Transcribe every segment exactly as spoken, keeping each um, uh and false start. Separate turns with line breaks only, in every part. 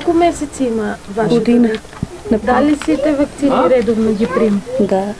Колку месеци има вашето
година?
дете? Дали сите вакцини редовно ги прим?
Да.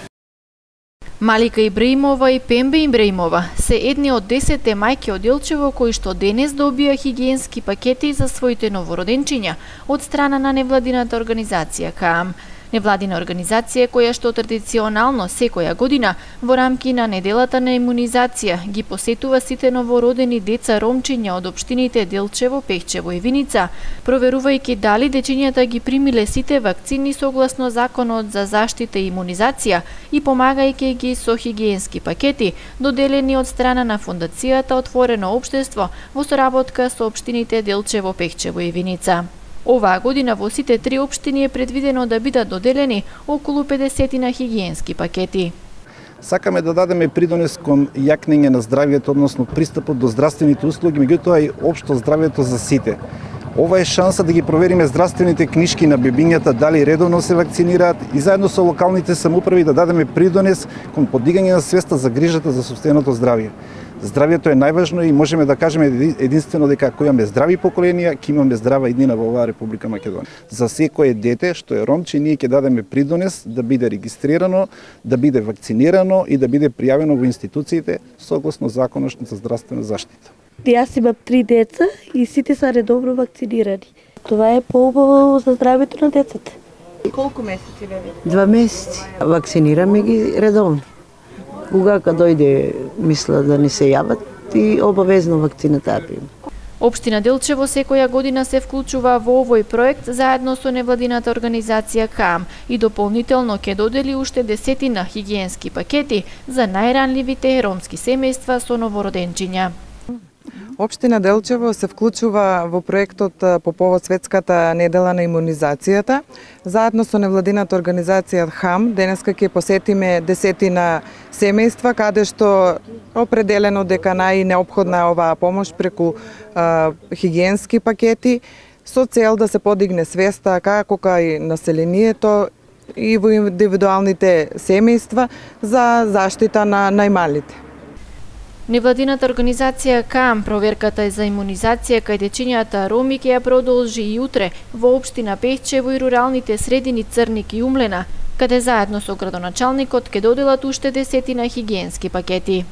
Малика Ибраимова и Пембе Ибраимова се едни од десетте мајки од Делчево кои што денес добија хигиенски пакети за своите новороденчиња од страна на невладината организација КААМ. Невладина организација која што традиционално секоја година во рамки на неделата на имунизација ги посетува сите новородени деца ромчиња од општините Делчево, Пехчево и Виница, проверувајќи дали дечињата ги примиле сите вакцини согласно Законот за заштита и имунизација и помагајќи ги со хигиенски пакети доделени од страна на Фондацијата Отворено општество во соработка со општините Делчево, Пехчево и Виница. Оваа година во сите три општини е предвидено да бидат доделени околу педесет на хигиенски пакети.
Сакаме да дадеме придонес кон јакнење на здравието, односно пристапот до здравствените услуги, меѓутоа и општо здравието за сите. Ова е шанса да ги провериме здравствените книшки на бебињата дали редовно се вакцинираат и заедно со локалните самоуправи да дадеме придонес кон подигање на свеста за грижата за сопственото здравје. Здравието е најважно и можеме да кажеме единствено дека ако имаме здрави поколенија, ќе имаме здрава иднина во оваа Република Македонија. За секое дете што е ромче, ние ќе дадеме придонес да биде регистрирано, да биде вакцинирано и да биде пријавено во институциите согласно Законот за здравствена заштита.
Јас имам три деца и сите се редовно вакцинирани. Това е поубаво за здравието на децата.
Колку месеци ве?
Два месеци. Вакцинираме ги редовно. Кога дојде мисла да не се јават и обавезно вакцината ја прима.
Општина Делчево секоја година се вклучува во овој проект заедно со невладината организација КААМ и дополнително ќе додели уште десетина хигиенски пакети за најранливите ромски семејства со новороденчиња.
Општина Делчево се вклучува во проектот по повод Светската недела на имунизацијата. Заедно со невладината организација ХАМ денеска ќе посетиме десетина семејства каде што определено дека најнеопходна е оваа помош преку а, хигиенски пакети со цел да се подигне свеста како кај населението и во индивидуалните семејства за заштита на најмалите.
Невладината организација КААМ проверката за имунизација кај дечињата роми ќе ја продолжи и утре во општина Пехчево и руралните средини Црник и Умлена, каде заедно со градоначалникот ќе доделат уште десетина хигиенски пакети.